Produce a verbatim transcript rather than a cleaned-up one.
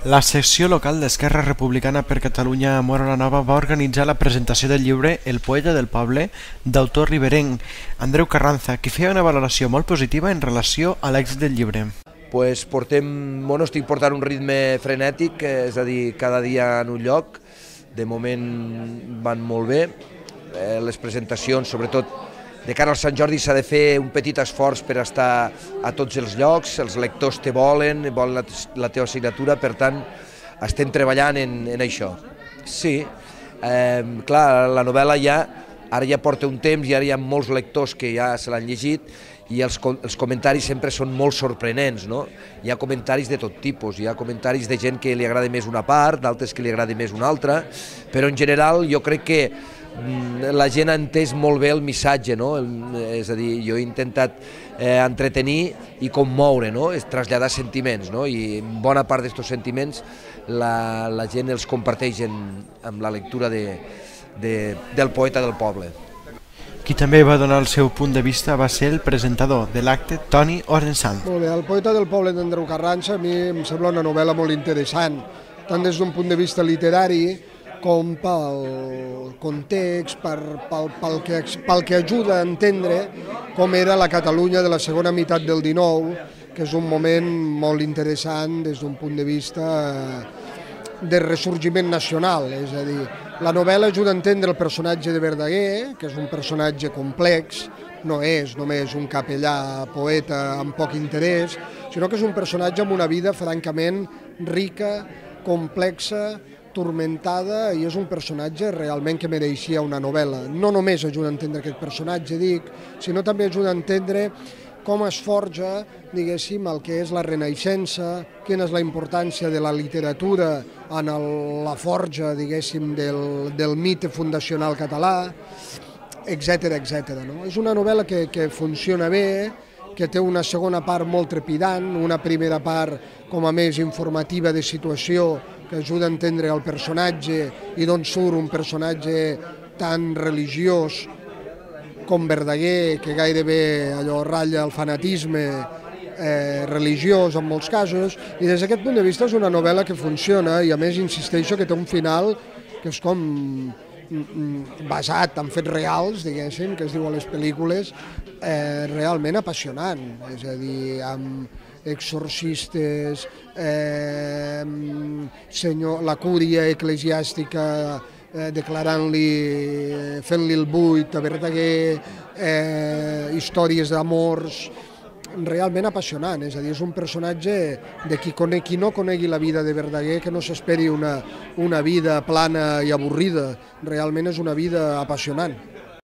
La secció local d'Esquerra Republicana per Catalunya a Móra la Nova va organitzar la presentació del llibre El poeta del poble, d'autor riberenc, Andreu Carranza, qui feia una valoració molt positiva en relació a l'èxit del llibre. Pues portem, bueno, estic portant un ritme frenètic, és a dir, cada dia en un lloc, de moment van molt bé, eh, les presentacions, sobretot de cara al Sant Jordi s'ha de fer un petit esforç per estar a tots els llocs, els lectors te volen, volen la, la teva signatura, per tant estem treballant en, en això. Sí, eh, clar, la novel·la ja, ara ja porta un temps i ara hi ha molts lectors que ja se l'han llegit i els, els comentaris sempre són molt sorprenents, no? Hi ha comentaris de tot tipus, hi ha comentaris de gent que li agrada més una part, d'altres que li agrada més una altra, però en general jo crec que la gent ha entès molt bé el missatge, no? És a dir, jo he intentat eh, entretenir i commoure, no? És traslladar sentiments, no? I bona part d'aquests sentiments la, la gent els comparteix en, amb la lectura de, de, del poeta del poble. Qui també va donar el seu punt de vista va ser el presentador de l'acte, Toni Orensant. Molt bé, El poeta del poble d'Andreu Carranza a mi em sembla una novel·la molt interessant, tant des d'un punt de vista literari com pel context, per, pel, pel, que, pel que ajuda a entendre com era la Catalunya de la segona meitat del dinou, que és un moment molt interessant des d'un punt de vista de ressorgiment nacional, és a dir, la novel·la ajuda a entendre el personatge de Verdaguer, que és un personatge complex, no és només un capellà poeta amb poc interès, sinó que és un personatge amb una vida francament rica, complexa, turmentada, i és un personatge realment que mereixia una novel·la. No només ajuda a entendre aquest personatge, dic, sinó també ajuda a entendre com es forja, diguéssim, el que és la Renaixença, quina és la importància de la literatura en el, la forja, diguéssim, del, del mite fundacional català, etcètera, etcètera. No? És una novel·la que, que funciona bé, que té una segona part molt trepidant, una primera part com a més informativa de situació que ajuda a entendre el personatge i d'on surt un personatge tan religiós com Verdaguer, que gairebé allò ratlla el fanatisme eh, religiós en molts casos, i des d'aquest punt de vista és una novel·la que funciona i a més insisteixo que té un final que és com basat en fets reals, diguéssim, que es diu a les pel·lícules, eh, realment apassionant, és a dir, amb exorcistes, eh, senyor, la cúria eclesiàstica eh, declarant-li, fent-li el buit a Verdaguer, eh, històries d'amors, realment apassionant, és a dir, és un personatge de qui, conec, qui no conegui la vida de Verdaguer, que no s'esperi una, una vida plana i avorrida, realment és una vida apassionant.